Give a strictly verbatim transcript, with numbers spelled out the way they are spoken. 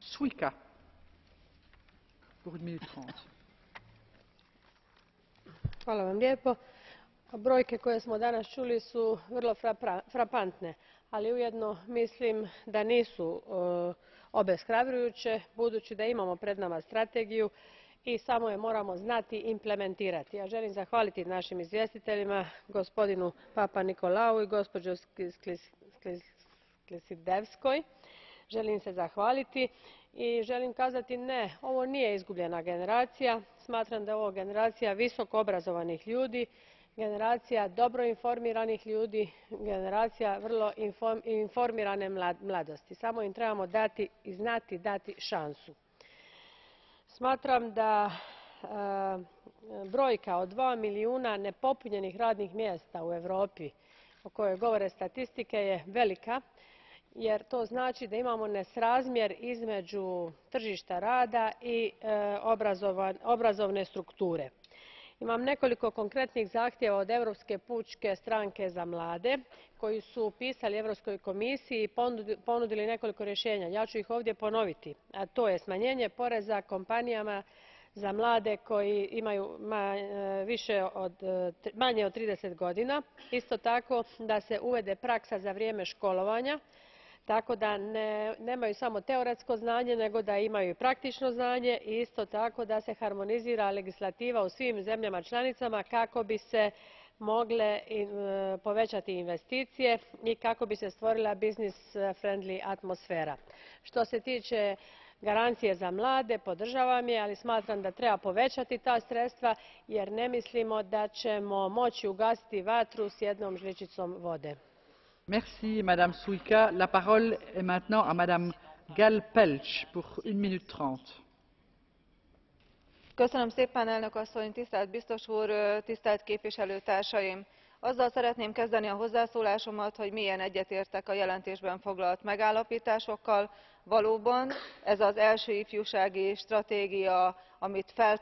Suica, pour une minute trente. Hvala vam lijepo. Brojke koje smo danas čuli su vrlo frapantne, ali ujedno mislim da nisu obeshrabrujuće, budući da imamo pred nama strategiju i samo je moramo znati implementirati. Ja želim zahvaliti našim izvjestiteljima, gospodinu Papanikolaou i gospođi Sklisidevskoj. Želim se zahvaliti i želim kazati ne, ovo nije izgubljena generacija. Smatram da je ovo generacija visoko obrazovanih ljudi, generacija dobro informiranih ljudi, generacija vrlo informirane mladosti. Samo im trebamo dati i znati dati šansu. Smatram da brojka od dva milijuna nepopunjenih radnih mjesta u Europi, o kojoj govore statistike, je velika, jer to znači da imamo nesrazmjer između tržišta rada i obrazovne strukture. Imam nekoliko konkretnih zahtjeva od Europske pučke stranke za mlade, koji su pisali Europskoj komisiji i ponudili nekoliko rješenja. Ja ću ih ovdje ponoviti, a to je smanjenje poreza kompanijama za mlade koji imaju manje od trideset godina, isto tako da se uvede praksa za vrijeme školovanja, tako da nemaju samo teoretsko znanje, nego da imaju i praktično znanje, i isto tako da se harmonizira legislativa u svim zemljama članicama kako bi se mogle povećati investicije i kako bi se stvorila business friendly atmosfera. Što se tiče garancije za mlade, podržavam je, ali smatram da treba povećati ta sredstva jer ne mislimo da ćemo moći ugasiti vatru s jednom žličicom vode. Merci, Madame Suica. La parole est maintenant à Madame Gal Pelcz pour une minute trente. Köszönöm szépen, elnök asszony, tisztelt biztos úr, tisztelt képviselőtársaim! Azzal szeretném kezdeni a hozzászólásomat, hogy mélyen egyetértek a jelentésben foglalt megállapításokkal. Valóban ez az első ifjúsági stratégia, amit fel